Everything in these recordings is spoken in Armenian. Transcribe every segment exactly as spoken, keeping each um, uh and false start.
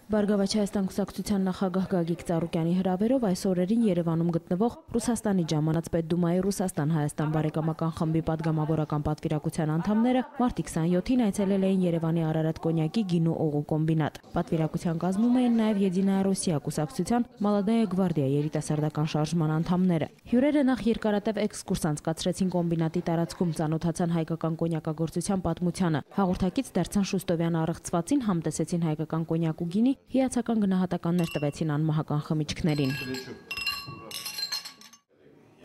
Բարգավաճ Հայաստան կուսակցության նախագահ Գագիկ Ծառուկյանի հրավերով այս օրերին Երևանում գտնվող Ռուսաստանի ժամանած Պետդումայի Ռուսաստան-Հայաստան բարեկամական խմբի падգամավորական պատվիրակության անդամները մարտի քսաներկուին այցելել էին Երևանի Արարատ կոնյակի գինու օղու կոմբինատ։ Պատվիրակության կազմում էին նաև Եդինայա Ռոսիա կուսակցության Մալադայա գվարդիա երիտասարդական շարժման անդամները։ Հյուրերը նախ երկարատև էքսկուրս անցկացրեցին կոմբինատի տարածքում, ծանոթացան հայկական կոնյակագործության պատմությանը։ Հաղորդակից դարձան Շուստովյան առեղծվածին, համտեսեցին հայկական կոնյակ ու գինի, հիացական գնահատականներ տվեցին անմահական խմիչքներին։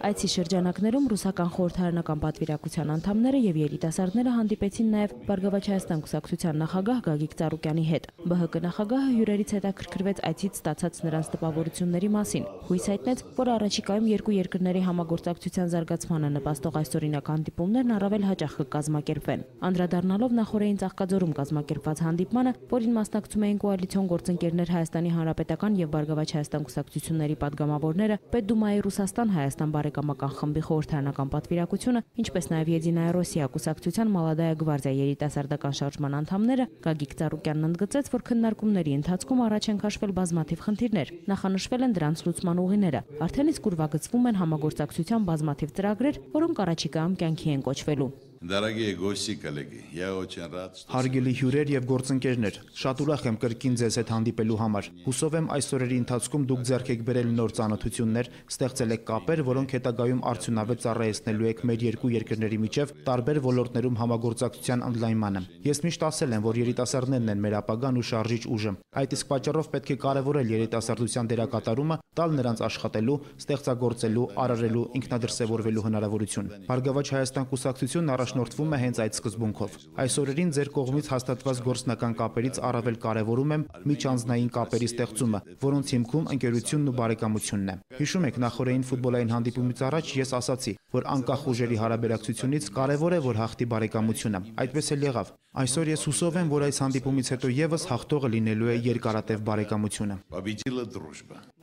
Այցի շրջանակներում ռուսական խորհրդարանական պատվիրակության անդամները եւ երիտասարդները հանդիպեցին նաեւ Բարգավաճ Հայաստան կուսակցության նախագահ Գագիկ Ծառուկյանի հետ։ Բ Հ Կ նախագահը հյուրերից հետաքրքրվեց այցից ստացած նրանց տպավորությունների մասին։ Հույս հայտնեց, որ առաջիկայում երկու երկրների համագործակցության զարգացմանը նպաստող այսօրինակ հանդիպումներն առավել հաճախ կկազմակերպվեն։ Անդրադառնալով նախորդին Ծաղկաձորում կազմակերպված հանդիպմանը, որին մասնակցում էին կոալիցիոն գործընկերներ Հայաստանի Հանրապետական եւ Բարգավաճ Հայաստան կուսակցությունների падգամավորները, Պետդումայի Ռուսաստան-Հայաստան բարեկամական խմբի խորհրդարանական պատվիրակությունը, ինչպես նաև Եդինայա Ռոսիա կուսակցության Մալադայա գվարդիա երիտասարդական շարժման անդամները, Գագիկ Ծառուկյանն ընդգծեց, որ քննարկումների ընթացքում առաջ են քաշվել բազմաթիվ խնդիրներ, նախանշվել են դրանց լուծման ուղիները, արդեն իսկ ուրվագծվում են համագործակցության բազմաթիվ ծրագրեր, որոնք առաջիկայում կյանքի են կոչվելու։ Дорогие гости, коллеги, я очень рад, что... Հարգելի հյուրեր եւ գործընկերներ, շատ ուրախ եմ կրկին ձեզ հետ հանդիպելու համար։ Հուսով եմ այս օրերի ընթացքում դուք ձեռք եք բերել նոր ծանոթություններ, ստեղծել եք կապեր, որոնք հետագայում արդյունավետ ծառայեցնելու եք մեր երկու երկրների միջև տարբեր ոլորտներում համագործակցության ընդլայնմանը։ Ես միշտ ասել եմ, որ երիտասարդներն են մեր ապագան ու շարժիչ ուժը։ Այդ իսկ պատճառով պետք է կարևորել երիտասարդության դերակատարումը, տալ նրանց աշխատելու, ստեղծագործելու, արարելու, ինքնադրսևորվելու հնարավորություն։ Բարգավաճ Հայաստան կուսակցությունն առաջնորդվում է հենց այդ սկզբունքով։ Այս օրերին ձեր կողմից հաստատված գործնական կապերից առավել կարևորում եմ միջանձնային կապերի ստեղծումը, որոնց հիմքում ընկերությունն ու բարեկամությունն է։ Հիշում եք, նախորդին ֆուտբոլային հանդիպումից առաջ ես ասացի, որ անկախ ուժերի հարաբերակցությունից կարևոր է, որ հաղթի բարեկամությունը։ Այդպես էլ եղավ։ Այսօր ես հուսով եմ, որ այս հանդիպումից հետո եւս հաղթողը լինելու է երկարատև բարեկամությունը։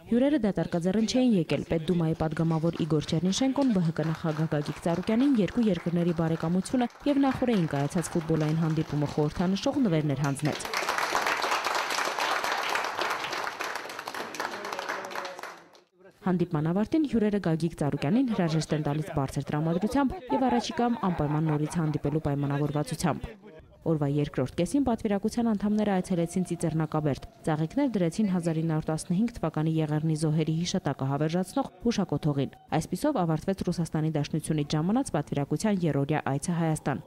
Հյուրերը դատարկաձեռն չէին եկել։ Պետդումայի падգամավոր Իգոր Չերնիշենկոն Բ Հ Կ նախագահ Գագիկ Ծառուկյանին երկու երկրների բարեկամությունը եւ նախորդին կայացած ֆուտբոլային հանդիպումը խորհրդանշող նվերներ հանձնեց։ Հանդիպման ավարտին հյուրերը Գագիկ Ծառուկյանին հրաժեշտ են տալիս բարձր տրամադրությամբ եւ առաջիկայում անպայման նորից հանդիպելու պայմանավորվածությամբ։ Օրվա երկրորդ կեսին պատվիրակության անդամները այցելեցին Ծիծեռնակաբերդ, ծաղիկներ դրեցին հազար ինը հարյուր տասնհինգ թվականի Եղեռնի զոհերի հիշատակը հավերժացնող հուշակոթողին։ Այսպիսով ավարտվեց Ռուսաստանի Դաշնությունից ժամանած պատվիրակության երրորդյա այցը Հայաստան։